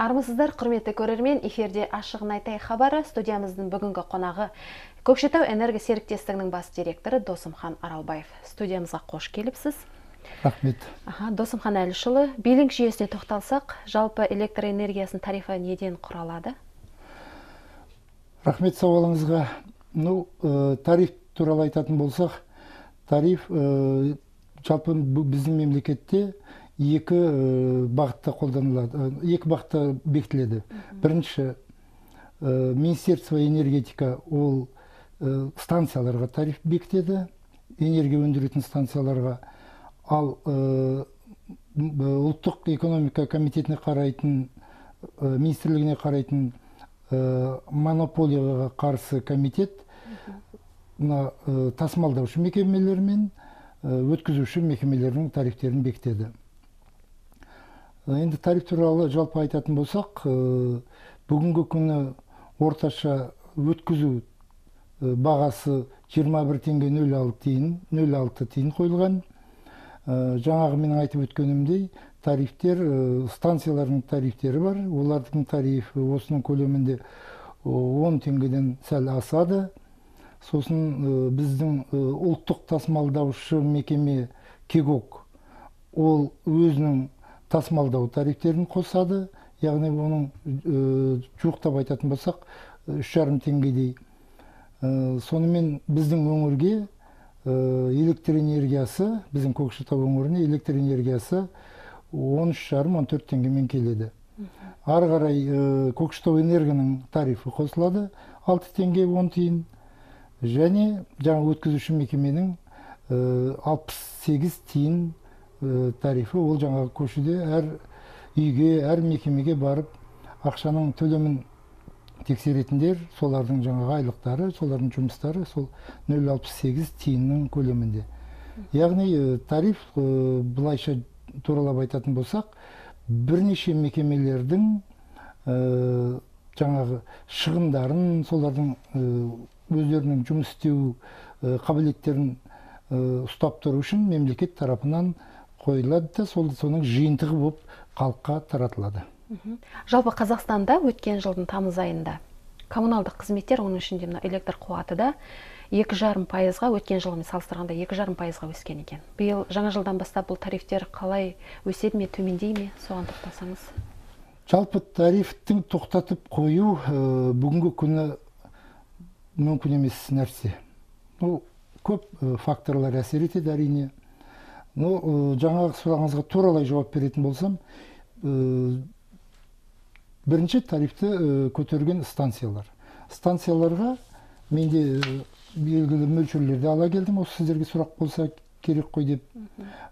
Армысыздар, құрметті көрермен, эфирде ашығын айтай хабары. Студиямыздың бүгінгі қонағы Көкшетау энерго серіктестігінің бас директоры Досымхан Аралбаев. Студиямызға қош келіпсіз. Рахмет. Досымхан Әлішұлы, билинг жүйесіне тоқталсақ, жалпы электр энергиясының тарифі неден құралады? Рахмет сауалыңызға. Тариф туралы айтатын болсақ, тариф жалпы біздің мемлекетте екі бағытта қолданылады, екі бағытта бекітіледі. Бірінші, Министерство энергетика ол станцияларға тариф бекітеді, энергия өндіретін станцияларға. Ал ұлттық экономика комитетіне қарайтын, министрлігіне қарайтын монополияға қарсы комитет тасымалдаушы мекемелер мен өткізуші мекемелердің тарифтерін бекітеді. Енді тариф туралы жалпы айтатын болсақ, бүгінгі күні орташа өткізу бағасы 21 теңге 06 тиын қойылған. Жаңағы менің айтып өткенімдей, тарифтер, станциялардың тарифтері бар. Олардың тарифі осының көлемінде 10 теңгеден сәл асады. Сосын біздің ұлттық тасымалдаушы мекеме Кегок ол өзінің тасымалдау тарифтерін қосады. Яғни оның жуықтап айтатын болсақ 3,5 теңгедей. Сонымен біздің өңірге электр энергиясы, біздің Көкшетау өңіріне электр энергиясы 13,5-14 теңгемен келеді. Ары қарай Көкшетау энергоның тарифі қосылады 6 теңге 10 тиын. Және жаңа өткізуші мекеменің 68 тиын тарифі. Ол жаңағы көшеде әр үйге, әр мекемеге барып ақшаның төлемін тексеретіндер, солардың жаңағы айлықтары, солардың жұмыстары сол 0,68 тиынның көлемінде. Яғни тариф, бұлайша туралап айтатын болсақ, бірнеше мекемелердің жаңағы шығындарын, солардың өздерінің жұмыс істеу қабілеттерін ұстап тұру үшін мемлекет тарапынан қойылады да, соның жиынтығы болып халыққа таратылады. Жалпы Қазақстанда өткен жылдың тамыз айында коммуналдық қызметтер, оның ішінде электр қуаты да 2,5%-ға, өткен жылмен салыстырғанда 2,5%-ға өскен екен. Биыл жаңа жылдан бастап бұл тарифтер қалай өседі ме, төмендей ме, соған тоқтасаңыз? Жалпы тарифтің тоқтатып қою бүгінгі күні мүмкін емес нәрсе. Көп факторлар әсер етеді әрине. Жаңағы сұрағыңызға туралай жауап беретін болсам, бірінші тарифті көтерген станциялар. Станцияларға менде белгілі мөлшерлерді ала келдім, осы сіздерге сұрақ болса керек қой деп.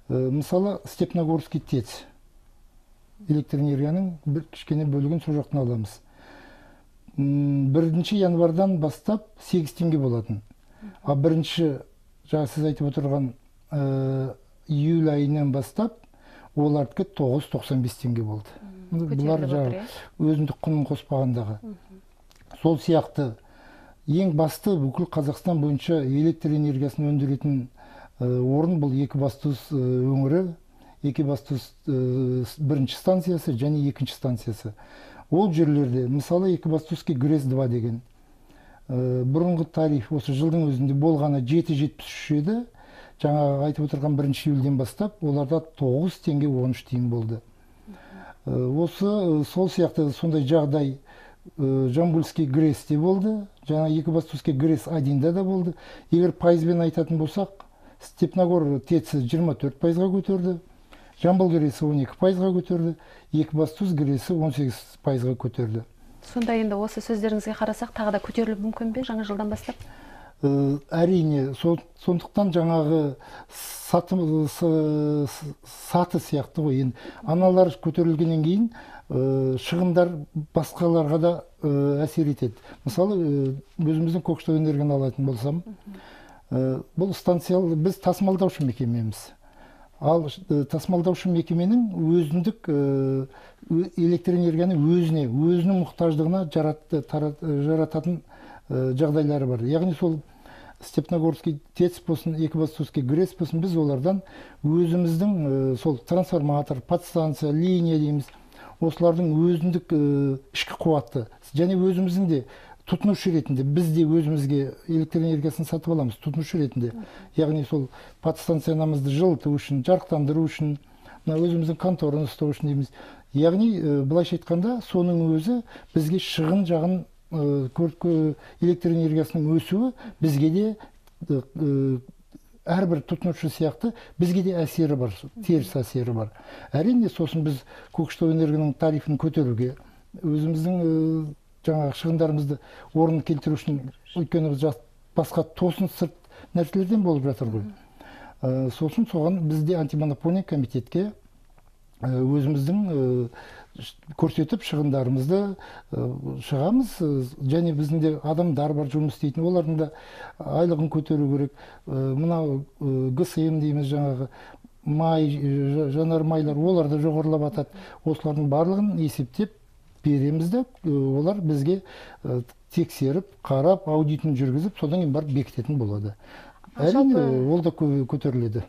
Мысалы, Степногорский ТЭЦ электр энергияның бір кішкене бөлігін сол жақтан аламыз. 1 январдан бастап 8 теңге болатын. А бірінші, жаңа сіз айтып отырған июль айынан бастап олардікі 9,95 теңге болды. Бұлар жаңа өзіндік құнын қоспағандағы. Сол сияқты ең басты бүкіл Қазақстан бойынша электр энергиясын өндіретін орын бұл Екібастұз өңірі, Екібастұз бірінші станциясы және екінші станциясы. Ол жерлерде, мысалы Екібастұзский ГРЭС-2 деген бұрынғы тариф осы жылдың өзінде болғаны 7,73 еді. Жаңа айтып отырған 1 июльден бастап оларда 9 теңге 13 тиын болды. Осы сол сияқты сондай жағдай Жамбылский ГРЭС-те болды, жаңа Екібастұзский ГРЭС-1-да да болды. Егер пайызбен айтатын болсақ, Степногор ТЭЦ 24%-ға көтерді, Жамбыл ГРЭС 12%-ға көтерді, Екібастұз ГРЭС 18%-ға көтерді. Сонда енді осы сөздеріңізге қарасақ, тағы да көтеріліп мүмкін бе жаңа жылдан бастап? Әрине, сондықтан жаңағы саты сияқты ғой. Аналар көтерілгеннен кейін шығындар басқаларға да әсер етеді. Мысалы, өзіміздің Көкшетау энергияны алатын болсам, бұл станциялы біз тасымалдаушы мекемеміз. Ал тасымалдаушы мекеменің өзіндік электр энергияны өзінің мұқтаждығына жарататын жағдайлары бар. Яғни сол Степногорский ТЭЦ болсын, Екібастұзский ГРЭС болсын, біз олардан өзіміздің сол трансформатор, подстанция, линия дейміз, осылардың өзіндік ішкі қуаты және өзіміздің де тұтынушы ретінде біз де өзімізге электр энергиясын сатып аламыз тұтынушы ретінде. Яғни сол подстанциямызды жылыту үшін, жарықтандыру үшін, мына өзіміздің контораны ұстау үшін дейміз. Яғни былайша айтқанда соның өзі бізге шығын жағын электр энергиясының өсуі бізге де әрбір тұтынушы сияқты бізге де әсері бар, теріс әсері бар. Әрине сосын біз Көкшетау энергияның тарифін көтеруге, өзіміздің жаңағы шығындарымызды орнына келтіру үшін, өйткені басқа тосын сырт нәрселерден болып жатыр ғой. Сосын соған бізде антимонополия комитетке өзіміздің көрсетіп шығындарымызды шығамыз, және біздің де адамдар бар жұмыс істейтін, олардың да айлығын көтеру керек. Мынау ГСМ дейміз, жаңағы май, жанар майлар, олар да жоғарылап атады. Осылардың барлығын есептеп береміз де, олар бізге тексеріп, қарап, аудитін жүргізіп, содан кейін барып бекітетін болады. Әрине, ол да көтеріледі.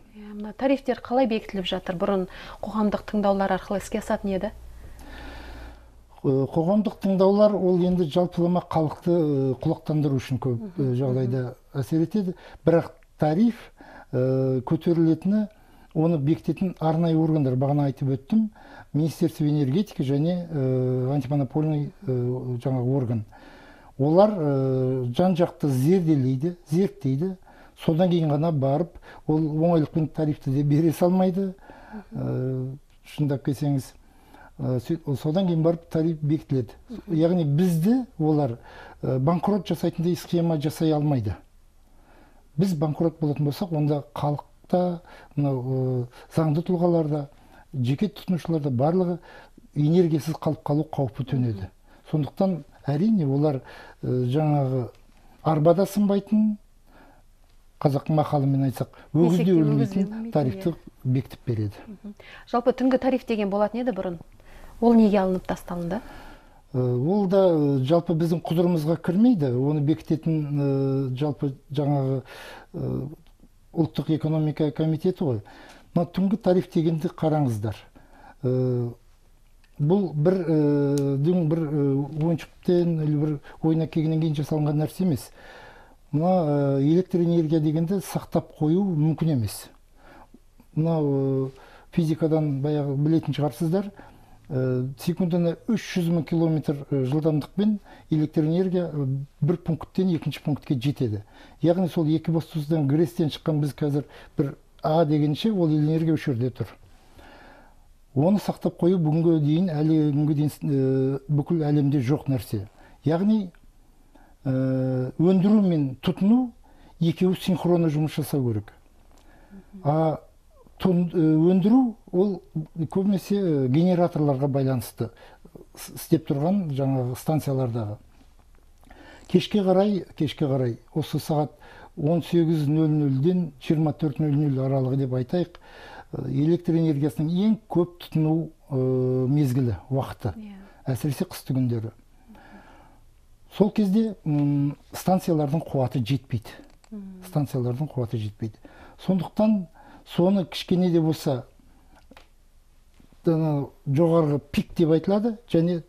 Тарифтер қалай бекітіліп жатыр? Бұрын қоғамдық тыңдаулар арқылы іске асатын еді? Қоғамдық тыңдаулар ол енді жалпылама халықты құлақтандыру үшін көп жағдайда әсер етеді. Бірақ тариф көтерілетіні, оны бекітетін арнайы органдар, бағана айтып өттім, Министерство энергетики және антимонопольный жаңағы орган. Олар жан-жақты зерделейді, зерттейді. Содан кейін ғана барып, ол оңайлықпен тарифті де бере салмайды. Шындап келсеңіз, содан кейін барып тариф бекітіледі. Яғни бізді олар банкрот жасайтындай схема жасай алмайды. Біз банкрот болатын болсақ, онда халықта, заңды тұлғаларда, жеке тұтынушыларда барлығы энергиясыз қалып қалу қаупі төнеді. Сондықтан әрине олар жаңағы арбада сынбайтын, қазақтың мақалымен айтсақ, өгізде өлмейтін тарифті бекітіп береді. Жалпы түнгі тариф деген болатын еді бұрын. Ол неге алынып тасталынды? Ол да жалпы біздің құзырымызға кірмейді. Оны бекітетін жалпы жаңағы ұлттық экономика комитеті ғой. Түнгі тариф дегенді қараңыздар. Бұл бір ойыншықтен, бір ойына келгеннен кейін жасалынған нәрсе емес. Мына электр энергия дегенді сақтап қою мүмкін емес. Мына физикадан баяғы білетін шығарсыздар. Секундына 300 000 километр жылдамдықпен электр энергия бір пункттен екінші пунктке жетеді. Яғни сол екібастұздан Грестен шыққан біз қазір бір А дегенше ол энергия осы жерде тұр. Оны сақтап қою бүгінгі дейін бүкіл әлемде жоқ нәрсе. Яғни өндіру мен тұтыну екеуі синхронды жұмыс жасау керек. Өндіру ол көбінесе генераторларға байланысты істеп тұрған жаңағы станциялардағы. Кешке қарай осы сағат 18:00-ден 24:00 аралығы деп айтайық, электр энергиясының ең көп тұтыну мезгілі, уақыты, әсіресе қысты күндері. Сол кезде станциялардың қуаты жетпейді. Сондықтан соны кішкене де болса жоғарғы пик деп айтылады, және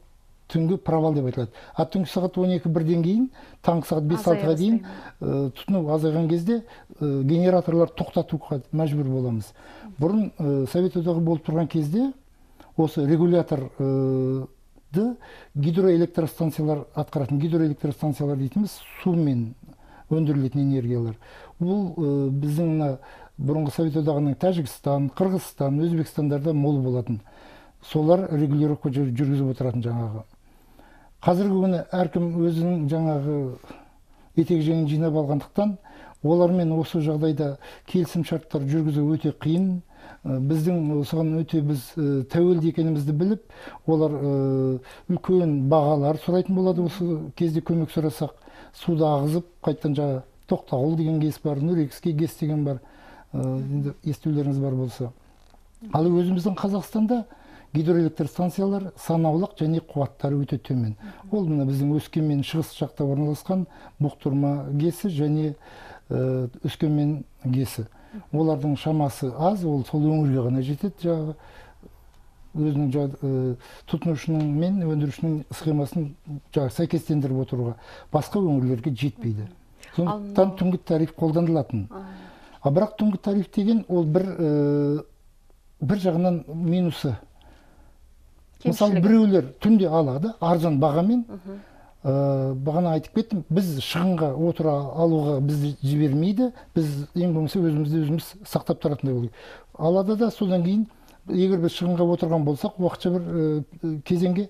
түнгі провал деп айтылады. Түнгі сағат 12:00-ден кейін, таңғы сағат 5-6-ға дейін тұтыну азайған кезде генераторлар тоқтатуға мәжбүр боламыз. Бұрын Совет одағы болып тұрған кезде осы регуляторды гидроэлектростанциялар атқаратын, гидроэлектростанциялар дейтіміз сумен өндірілетін энергиялар. Бұл біздің бұрынғы Совет одағының Тәжікстан, Қырғызстан, Өзбекстандарда мол болатын. Солар регулировка жүргізіп отыратын жаңағы. Қазіргі күні әркім өзінің жаңағы етек жеңін жинап алғандықтан, олармен осы жағдайда келісім шарттар жүргізу өте қиын. Біздің осыған өте біз тәуелді екенімізді біліп, олар үлкен бағалар сұрайтын болады. Осы кезде көмек сұрасақ, суды ағызып, қайттан жаңа Тоқтағұл деген кес бар, Нұрекіске кес деген бар, естулеріңіз бар болса. Ал өзіміздің Қазақстанда гидроэлектростанциялар санаулық және қуаттары өте төмен. Ол біздің Өскемен шығыс жақта орналасқан Бұқтырма кесі және Өскемен кесі. Олардың шамасы аз, ол сол өңірге ғана жетеді. өзінің тұтынушының мен өндірушінің схемасын сәйкестендіріп отыруға басқа өңірлерге жетпейді. Сондықтан түнгі тариф қолданылатын. Бірақ түнгі тариф деген ол бір жағынан минусы. Мысалы, біреулер түнде алады, арзан бағамен. Бағана айтып кеттім, біз шығынға отыра алуға бізді жібермейді, біз ең болмаса өзімізді өзіміз сақтап тұратындай болу. Алады да, содан кейін, егер біз шығынға отырған болсақ, уақытша бір кезеңге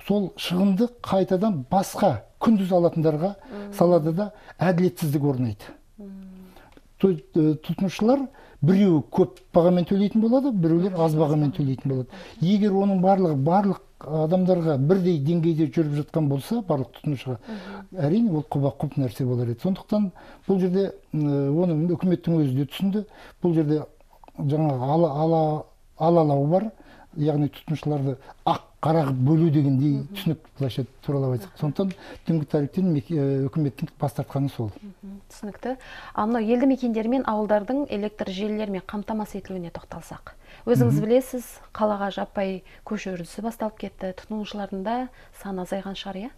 сол шығынды қайтадан басқа күндіз алатындарға салады да әділетсіздік орнайды. Тұтынушылар біреуі көп бағамен төлейтін болады, біреулер аз бағамен төлейтін болады. Егер оның барлық адамдарға бірдей деңгейде жүріп жатқан болса, барлық тұтынушыға, әрине ол құба-құп нәрсе болар еді. Сондықтан бұл жерде оны үкіметтің өзі де түсінді. Бұл жерде жаңағы алалау бар, яғни тұтынушыларды ақ-қара бөлу дегендей түсінік былайша туралап айтсақ. Сондықтан түнгі тарифтен үкіметтің бас тартқаны сол. Түсінікті. Мынау елді мекендер мен ауылдардың электр желілерімен қамтамасыз етілуіне тоқталсақ. Өзіңіз білесіз, қалаға жаппай көшу үрдісі басталып кетті. Тұтынушылардың да саны азайған шығар, иә?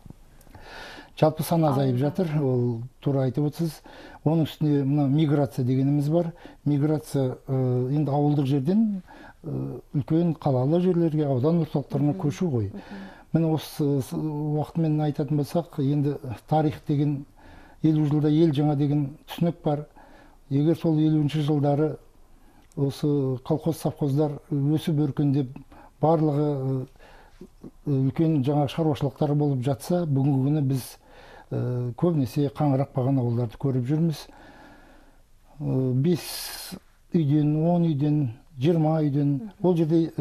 Жалпы саны азайып жатыр, ол тура айтып отырсыз. Оның үстіне мына миграция дегеніміз бар. Миграция енді ауылдық жерден үлкен қалалы жерлерге, аудан орталықтарына көшу ғой. Міне осы уақытымен айтатын болсақ, енді тарих деген 50 жылда ел жаңа деген түсінік бар. Егер сол 50-ші жылдары осы колхоз совхоздар өсіп өркендеп, барлығы үлкен жаңа шаруашылықтар болып жатса, бүгінгі күні біз көбінесе қаңырап қалған ауылдарды көріп жүрміз. 5 үйден, 10 үйден, 20 үйден, ол жерде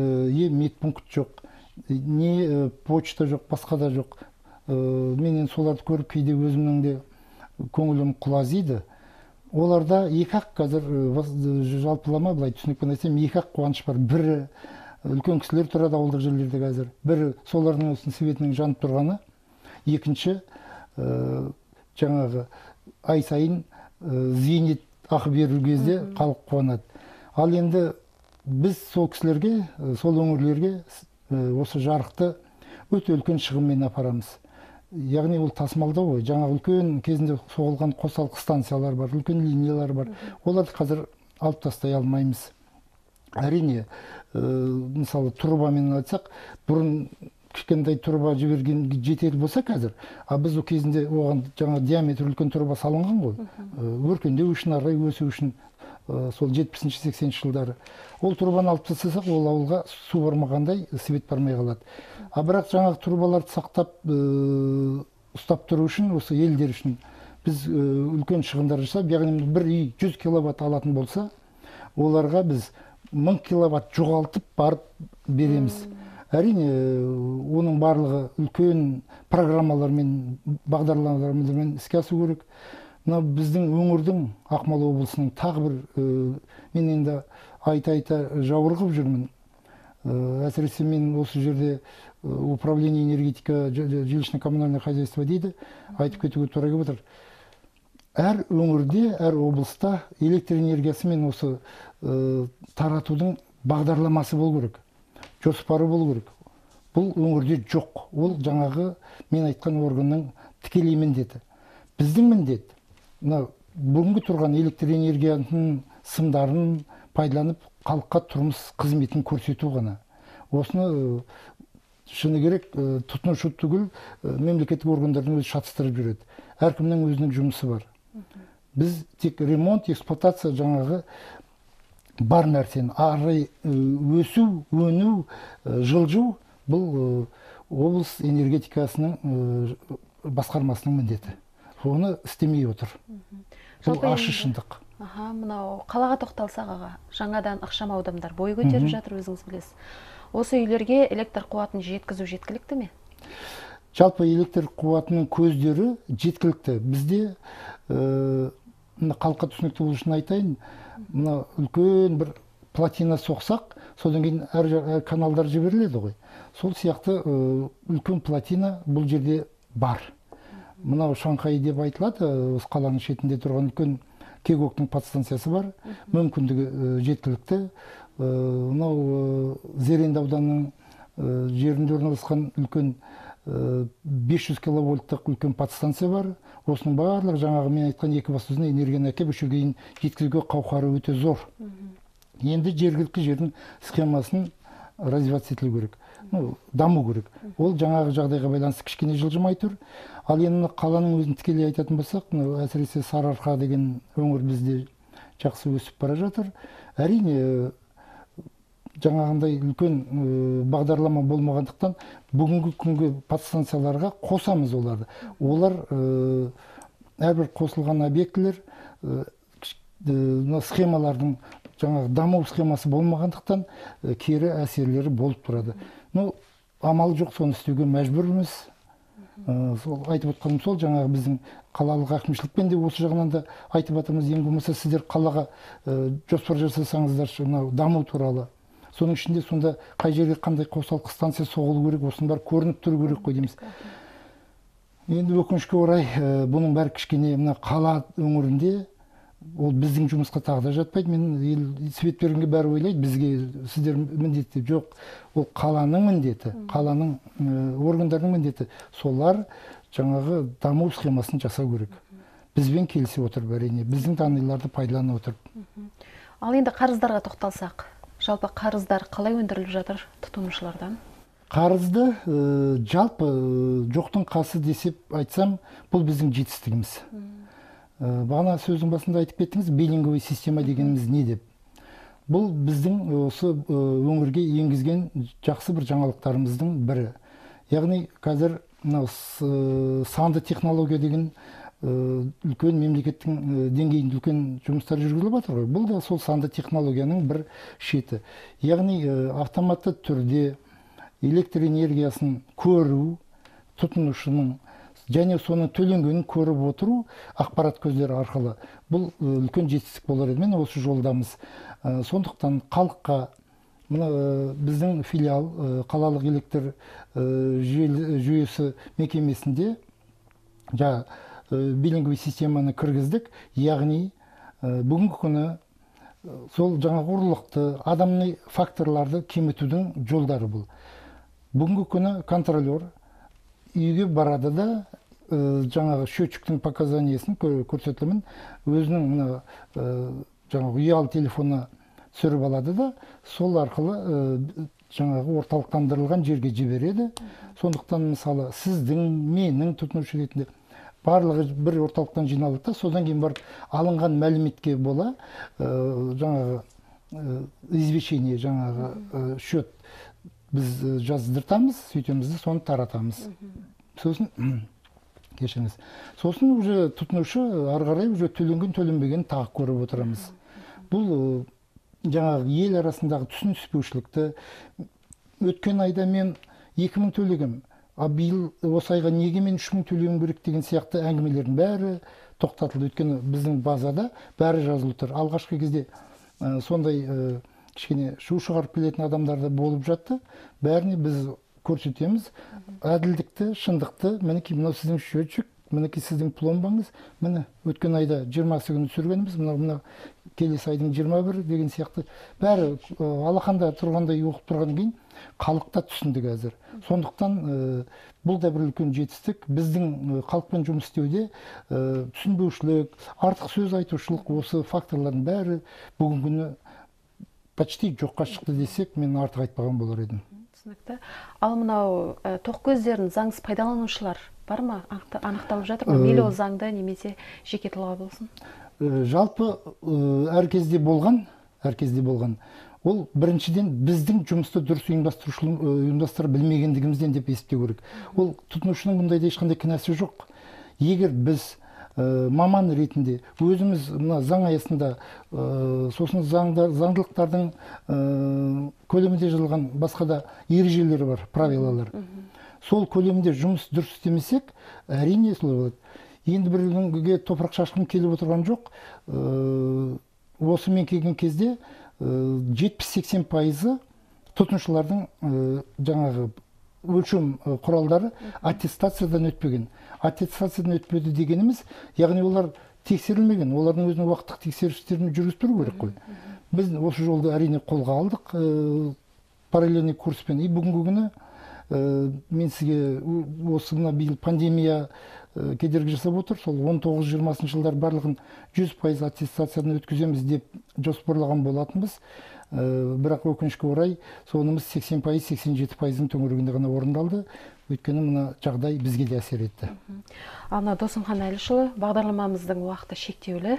медпункт жоқ, не почта жоқ, басқа да жоқ. Менен соларды көріп кейде өзімнің де көңілім құлазиды. Оларда екі-ақ қазір жалпылама былай түсінікпен айтсам, екі-ақ қуаныш бар. Бірі үлкен кісілер тұрады ауылдық жерлерде қазір. Бірі солардың осының светінің жанып тұрғаны. Екінші жаңағы ай сайын зейнет ақы беру кезде халық қуанады. Ал енді біз сол кісілерге, сол өңірлерге осы жарықты өте үлкен шығынмен апарамыз. Яғни ол тасымалдау ғой. Жаңа үлкен кезінде соғылған қосалқы станциялар бар, үлкен линиялар бар. Оларды қазір алып тастай алмаймыз. Әрине, мысалы трубамен айтсақ, бұрын кішкентай труба жіберген жетер болса қазір, біз ол кезінде оған жаңа диаметр үлкен труба салынған ғой. Өркендеу үшін, арай өсу үшін сол 70-80 жылдары. Ол трубаны алып тастасақ, ол ауылға су бармағандай свет бармай қалады. Бірақ жаңағы трубаларды сақтап ұстап тұру үшін, осы елдер үшін біз үлкен шығындар жасап, яғни бір үй 100 киловатт алатын болса, оларға біз 1000 киловатт жоғалтып барып береміз. Әрине, оның барлығы үлкен программалармен, бағдарламалармен іске асу керек. Мына біздің өңірдің, Ақмола облысының тағы бір мен енді айта жауырғып жүрмін. Әсіресе мен осы жерде управление энергетика жилищно-коммунальное хозяйство дейді, айтып кетуге тура келіп отыр. Әр өңірде, әр облыста электр энергиясы мен осы таратудың бағдарламасы болу керек, жоспары болу керек. Бұл өңірде жоқ. Ол жаңағы мен айтқан органның тікелей міндеті. Біздің міндет бүгінгі тұрған электр энергиясының сымдарын пайдаланып, халыққа тұрмыс қызметін көрсету ғана. Осыны шыны керек тұтынушы түгіл мемлекеттік органдардың өзі шатыстырып жүреді. Әркімнің өзінің жұмысы бар. Біз тек ремонт, эксплуатация жаңағы бар нәрсені ары өсу, өну, жылжу бұл облыс энергетикасының басқармасының міндеті. Оны істемей отыр. Бұл ашы шындық. Мынау қалаға тоқталсақ аға, жаңадан ықшам аудандар бой көтеріп жатыр, өзіңіз білесіз. Осы үйлерге электр қуатын жеткізу жеткілікті ме? Жалпы электр қуатының көздері жеткілікті. Бізде халыққа түсінікті болу үшін айтайын, мына үлкен бір плотина соқсақ, содан кейін әр каналдар жіберіледі ғой. Сол сияқты үлкен плотина бұл жерде бар. Мынау Шанхай деп айтылады, осы қаланың шетінде тұрған үлкен Кегоктың подстанциясы бар, мүмкіндігі жеткілікті. Мынау Зеренді ауданының жерінде орналасқан үлкен 500 киловольттық үлкен подстанция бар. Осының барлығы жаңағы мен айтқан екібастұзына энергияны әкеп осы жерге дейін жеткізуге қауқары өте зор. Енді жергілікті жердің схемасын развиваться етілу керек, даму керек. Ол жаңағы жағдайға байланысты кішкене жылжымай тұр. Ал енді қаланың өзін тікелей айтатын болсақ, әсіресе Сарыарқа деген өңір бізде жақсы өсіп бара жатыр. Әрине, жаңағындай үлкен бағдарлама болмағандықтан бүгінгі күнгі подстанцияларға қосамыз оларды. Олар әрбір қосылған объектілер схемалардың жаңағы даму схемасы болмағандықтан кері әсерлері болып тұрады. Амал жоқ, соны істеуге мәжбүрміз. Сол айтып отқаным сол, жаңағы біздің қалалық әкімшілікпен де осы жағынан да айтып жатырмыз. Ең болмаса сіздер қалаға жоспар жасасаңыздар мынау даму туралы. Соның ішінде сонда қай жерге қандай қосалқы станция соғылу керек, осының бәрі көрініп тұру керек қой дейміз. Енді өкінішке орай бұның бәрі кішкене мына қала өңірінде ол біздің жұмысқа тағы да жатпайды. Мен свет бергенге бәрі ойлайды, бізге сіздер міндеті жоқ. Ол қаланың міндеті, қаланың органдарының міндеті. Солар жаңағы даму схемасын жасау керек. Бізбен келісіп отырып, әрине, біздің данныйларды пайдалана отырып. Ал енді қарыздарға тоқталсақ, жалпы қарыздар қалай өндіріліп жатыр тұтынушылардан? Қарызды жалпы жоқтың қасы десеп айтсам, бұл біздің жетістігіміз. Бағана сөздің басында айтып кеттіңіз, биллинговый система дегеніміз не деп. Бұл біздің осы өңірге енгізген жақсы бір жаңалықтарымыздың бірі. Яғни қазір санды технология деген үлкен мемлекеттің деңгейінде үлкен жұмыстар жүргізіліп жатыр ғой. Бұл да сол санды технологияның бір шеті. Яғни автоматты түрде электр энергиясын көру, тұтынушының және соның төленгенін көріп отыру ақпарат көздері арқылы. Бұл үлкен жетістік болар еді. Мен осы жолдамыз. Сондықтан халыққа біздің филиал қалалық электр жүйесі мекемесінде биллинговый системаны кіргіздік. Яғни бүгінгі күні сол жаңағы ұрлықты, адамның факторларды кемітудің жолдары бұл. Бүгінгі күні контролер үйге барады да жаңағы счетчиктің показаниясын көрсетілімін өзінің жаңағы ұялы телефонына түсіріп алады да, сол арқылы жаңағы орталықтандырылған жерге жібереді. Сондықтан мысалы сіздің, менің тұтынушы ретінде барлығы бір орталықтан жиналады да, содан кейін барып алынған мәліметке бола жаңағы извещение, жаңағы счет біз жаздыртамыз, сөйтеміз де соны таратамыз. Сосын кешіңіз. Сосын уже тұтынушы ары қарай уже төленген төленбеген тағы көріп отырамыз. Бұл жаңағы ел арасындағы түсініспеушілікті, өткен айда мен 2000 төлегем, а биыл осы айға неге мен 3000 төлеуім керек деген сияқты әңгімелердің бәрі тоқтатылды. Өйткені біздің базада бәрі жазылып тұр. Алғашқы кезде сондай кішкене шу шығарып келетін адамдар да болып жатты. Бәріне біз көрсетеміз әділдікті, шындықты. Мінекей мынау сіздің счетчик, мінекей сіздің пломбаңыз, міне өткен айда 20-сы күні түсіргеніміз, мына келесі айдың 21 деген сияқты бәрі алақанда тұрғандай оқып тұрған кейін халықта түсінді қазір. Сондықтан бұл да бір үлкен жетістік. Біздің халықпен жұмыс істеуде түсінбеушілік, артық сөз айтушылық, осы факторлардың бәрі бүгінгі күні почти жоққа шықты десек, мен артық айтпаған болар едім. Түсінікті. Ал мынау тоқ көздерін заңсыз пайдаланушылар бар ма? Анықталып жатыр ма? Мейлі ол заңды немесе жеке тұлға болсын? Жалпы әр кезде болған. Ол біріншіден біздің жұмысты дұрыс ұйымдастыра білмегендігімізден деп есептеу керек. Ол тұтынушының бұндайда ешқандай кінәсі жоқ. Егер біз маман ретінде өзіміз заң аясында сосын заңдылықтардың көлемінде жазылған басқа да ережелері бар, правилалар. Сол көлемде жұмыс дұрыс істемесек, әрине солай болады. Енді бірге топырақ шашқым келіп отырған жоқ. Осы мен келген кезде 70-80% тұтынушылардың жаңағы өлшем құралдары аттестациядан өтпеген. Аттестациядан өтпеді дегеніміз, яғни олар тексерілмеген, олардың өзінің уақыттық тексерістерін жүргізіп тұру керек қой. Біз осы жолды әрине қолға алдық. параллельный курспен. И бүгінгі күні мен сізге осы мына биыл пандемия кедергі жасап отыр. Сол 19-20 жылдар барлығын 100% аттестациядан өткіземіз деп жоспарлаған болатынбыз. Бірақ өкінішке орай сонымыз 80%-87%-ның төңірегінде ғана орындалды. Өйткені мына жағдай бізге де әсер етті. Ана Досымхан Әлішұлы, бағдарламамыздың уақыты шектеулі.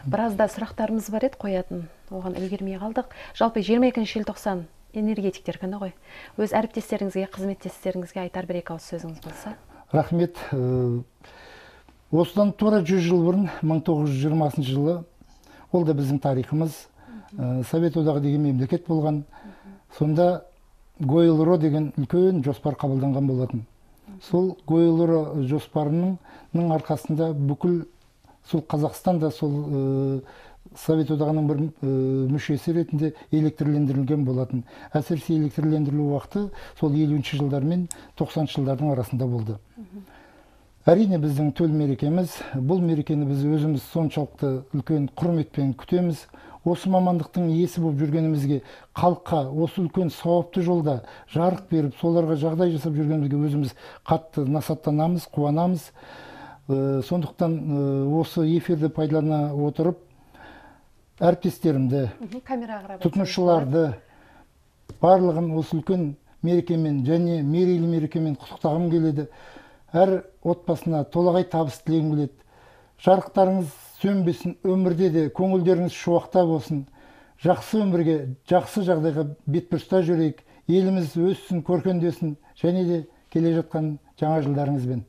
Біразда сұрақтарымыз бар еді қоятын. Оған үлгермей қалдық. Жалпы 22 желтоқсан энергетиктер күні ғой. Өз әріптестеріңізге, қызметтестеріңізге айтар бір екі ауыз сөзіңіз болса. Рахмет. Осыдан тура 100 жыл бұрын, 1920 жылы, ол да біздің тарихымыз, Совет одағы деген мемлекет болған. Сонда Гойл-Ро деген үлкен жоспар қабылданған болатын. Сол Гойл-Ро жоспарының арқасында бүкіл сол Қазақстанда сол Совет одағының бір мүшесі ретінде электрлендірілген болатын. Әсіресе электрлендірілу уақыты сол 50-ші жылдар мен 90-ші жылдардың арасында болды. Әрине біздің төл мерекеміз, бұл мерекені біз өзіміз соншалықты үлкен құрметпен күтеміз. Осы мамандықтың иесі болып жүргенімізге, халыққа осы үлкен сауапты жолда жарық беріп, соларға жағдай жасап жүргенімізге өзіміз қатты насаттанамыз, қуанамыз. Сондықтан осы эфирді пайдалана отырып, әріптестерімді, тұтынушыларды барлығын осы үлкен мерекемен және мерейлі мерекемен құттықтағым келеді. Әр отбасына толағай табыс тілегім келеді. Жарықтарыңыз сөнбесін, өмірде де көңілдеріңіз шуақта болсын. Жақсы өмірге, жақсы жағдайға бетбұрыста жүрейік. Еліміз өссін, көркендесін, және де келе жатқан жаңа жылдарыңызбен.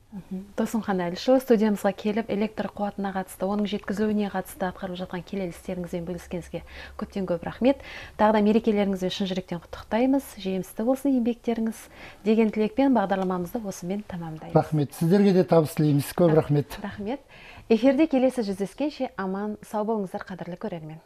Досымхан Әлішұлы, студиямызға келіп, электр қуатына қатысты, оның жеткізілуіне қатысты атқарып жатқан келелі істеріңізбен бөліскеніңізге көптен көп рахмет. Тағы да мерекелеріңізбен шын жүректен құттықтаймыз. Жемісті болсын еңбектеріңіз деген тілекпен бағдарламамызды осымен тамамдаймыз. Рахмет. Сіздерге де табыс тілейміз. Көп рахмет. Рахмет. Эфирде келесі жүздескенше аман, сау болыңыздар, қадірлі көрермен.